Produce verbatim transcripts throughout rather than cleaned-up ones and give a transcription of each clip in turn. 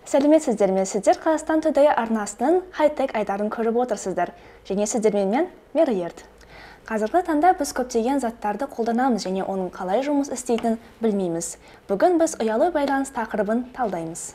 Сәлеметсіздер ме? Сіздер Қазақстан Today арнасының хай-тек айдарын көріп отырсыздар. Және сіздермен мен Меруерт. Қазіргі таңда біз көптеген заттарды қолданамыз және оның қалай жұмыс істейтінін білмейміз. Бүгін біз ұялы байланыс тақырыбын талдаймыз.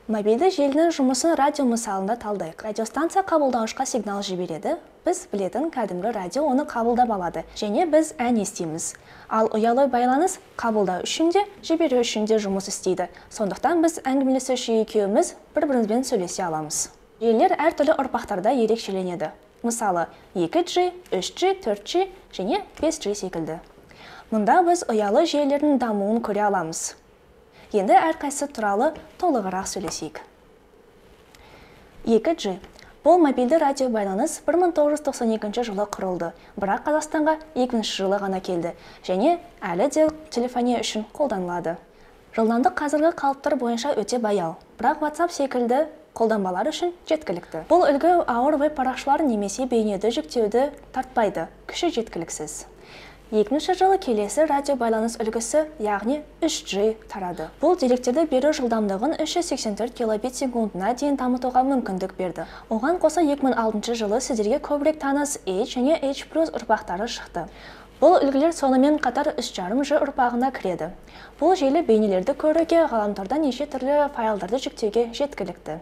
Мобильді желінің жұмысын радио мысалында талдайық. Радиостанция қабылдаушқа сигнал жібереді. Біз білетін кәдімгі радио оны қабылдап алады және біз ән естиміз. Ал ұялы байланыс қабылдау үшін де, жіберу үшін де жұмыс істейді. Сондықтан біз әңгімелесуші екеуміз бір-бірімізбен сөйлесе аламыз. Желілер әртүрлі ұрпақтарда ерекшеленеді. Мысалы, екі джи, үш джи, төрт джи және бес джи секілді. Мұнда біз ұялы желілердің дамуын көре аламыз. Енді әрқайсысы туралы толығырақ сөйлесейік. екі джи. Бұл мобильді радио байланыс бір мың тоғыз жүз тоқсан екінші жылы құрылды, бірақ Қазақстанға екі мыңыншы жылы ғана келді және әлі де телефония үшін қолданылады. Жылдамдық қазіргі қалыптар бойынша өте баяу, бірақ WhatsApp секілді қолданбалар үшін жеткілікті. Бұл үлгі ауыр веб-парақшалар немесе бейнеді жүктеуді тартпайды, күші жеткіліксіз. екі мыңыншы жылы келесі радио байланыс үлгісі, яғни үш джи тарады. Бұл деректерді беру жылдамдығын үш жүз сексен төрт килобит секундына дейін дамытуға мүмкіндік берді. Оған қоса екі мың алтыншы жылы сіздерге көбірек таныс H және H плюс ұрпақтары шықты. Бұл үлгілер сонымен қатар үш жарым джи ұрпағына кіреді. Бұл желі бейнелерді көруге, ғаламтордан неше түрлі файлдарды жүктеуге жеткілікті.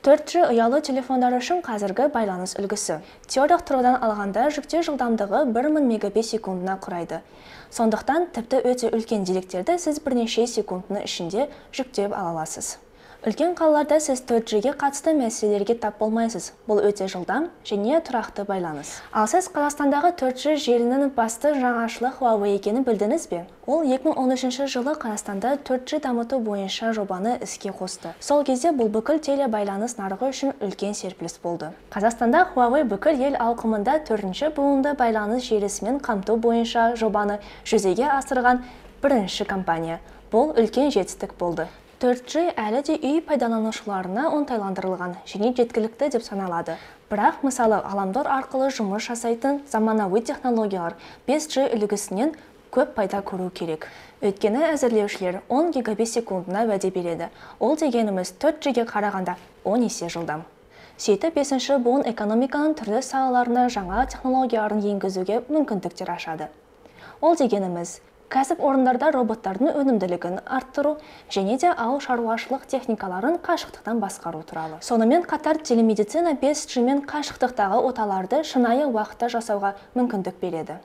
төрт джи ұялы телефондар үшін қазіргі байланыс үлгісі. Теориялық тұрғыдан алғанда жүктеу жылдамдығы бір мың мегабит секундына құрайды. Сондықтан тіпті өте үлкен деректерді сіз бірнеше секундының ішінде жүктеп ала аласыз. Үлкен қалаларда сіз төрт джиге қатысты мәселелерге тап болмайсыз. Бұл өте жылдам және тұрақты байланыс. Ал сіз Қазақстандағы төрт джи желінің басты жаңашылық Huawei екенін білдіңіз бе? Ол екі мың он үшінші жылы Қазақстанда төрт джи дамыту бойынша жобаны іске қосты. Сол кезде бұл бүкіл телебайланыс нарығы үшін үлкен серпіліс болды. Қазақстанда Huawei бүкіл ел ауқымында төртінші буынды байланыс желісімен қамту бойынша жобаны жүзеге асырған бірінші компания. Бұл үлкен жетістік болды. төрт джи әлі де үй пайдаланушыларына оңтайландырылған және жеткілікті деп саналады. Бірақ, мысалы, ғаламтор арқылы жұмыс жасайтын заманауи технологиялар бес джи үлгісінен көп пайда көру керек. Өйткені әзірлеушілер он гигабит секундына уәде береді. Ол дегеніміз төрт джиге қарағанда он есе жылдам. Сөйтіп, бесінші буын экономиканың түрлі салаларына жаңа технологияларын енгізуге мүмкіндіктер ашады. Ол дегеніміз кәсіп орындарда роботтардың өнімділігін арттыру және де ауыл шаруашылық техникаларын қашықтықтан басқару туралы. Сонымен қатар телемедицина бес джи мен қашықтықтағы оталарды шынайы уақытта жасауға мүмкіндік береді.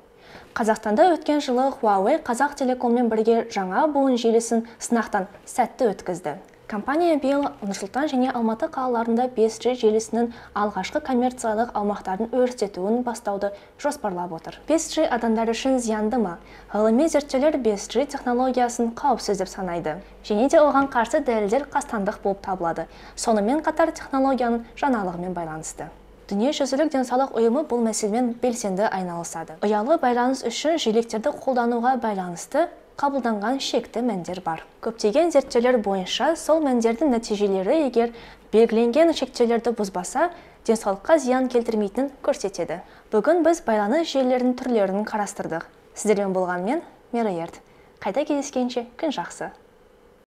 Қазақстанда өткен жылы Huawei Қазақ Телекоммен бірге жаңа буын желісін сынақтан сәтті өткізді. Компания биыл Нұрсұлтан және Алматы қалаларында бес джи желісінің алғашқы коммерциялық аумақтарын өрістетуін бастауды жоспарлап отыр. бес джи адамдар үшін зиянды ма? Ғылыми зерттеулер бес джи технологиясын қауіпсіз деп санайды. Және де оған қарсы дәлелдер қастандық болып табылады. Сонымен қатар технологияның жаңалығымен байланысты. Дүниежүзілік денсаулық ұйымы бұл мәселемен белсенді айналысады. Ұялы байланыс үшін желектерді қолдануға байланысты қабылданған шекті мәндер бар. Көптеген зерттеулер бойынша сол мәндердің нәтижелері егер белгіленген шектеулерді бұзбаса, денсаулыққа зиян келтірмейтінін көрсетеді. Бүгін біз байланыс желілерінің түрлерін қарастырдық. Сіздермен болған мен, Меруерт. Қайта кездескенше күн жақсы.